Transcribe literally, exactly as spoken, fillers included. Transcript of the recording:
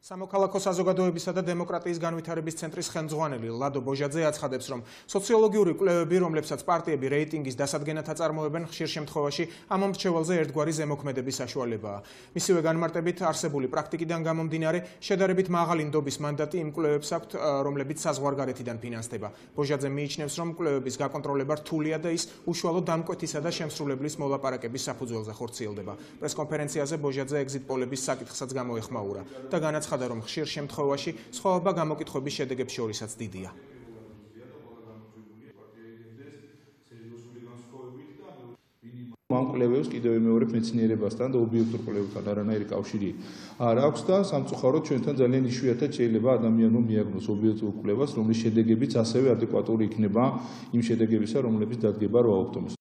სამოქალაქო საზოგადოებისა და დემოკრატიის განვითარების ცენტრის ხელმძღვანელი ლადო ბოჟაძე აცხადებს, რომ სოციოლოგიური კვლევები, რომლებსაც პარტიები რეიტინგის დასადგენად აწარმოებენ, ხშირ შემთხვევაში ამ მრჩეველზე ერთგვარი ზემოქმედების საშუალებაა. მისივე განმარტებით არსებული პრაქტიკიდან გამომდინარე, შედარებით მაღალი ნდობის მანდატი იმ კვლევებს აქვთ, რომლებიც საზღვარგარეთიდან ფინანსდება. ბოჟაძე მიიჩნევს, რომ კვლევების გაკონტროლება რთულია და ის უშუალო დამკვეთისა და შემსრულებლის მოლაპარაკების საფუძველზე ხორციელდება. პრესკონფერენციაზე ბოჟაძე ეგზიტ პოლების საკითხსაც გამოეხმაურა და განაცხადა, რომ ხშირ შემთხვევაში სხვაობა გამოკითხვების შედეგებს შორისაც დიდია. ამ კვლევებს კიდევ მეორე მეცნიერებასთან და ობიექტურ კვლევებთან არანაირი კავშირი არ აქვს და სამწუხაროდ ჩვენთან ძალიან იშვიათად შეიძლება ადამიანმა მიაგნოს ობიექტურ კვლევას, რომლის შედეგებიც ასევე ადეკვატური იქნება იმ შედეგებისა, რომლებიც დადგება რვა ოქტომბერს.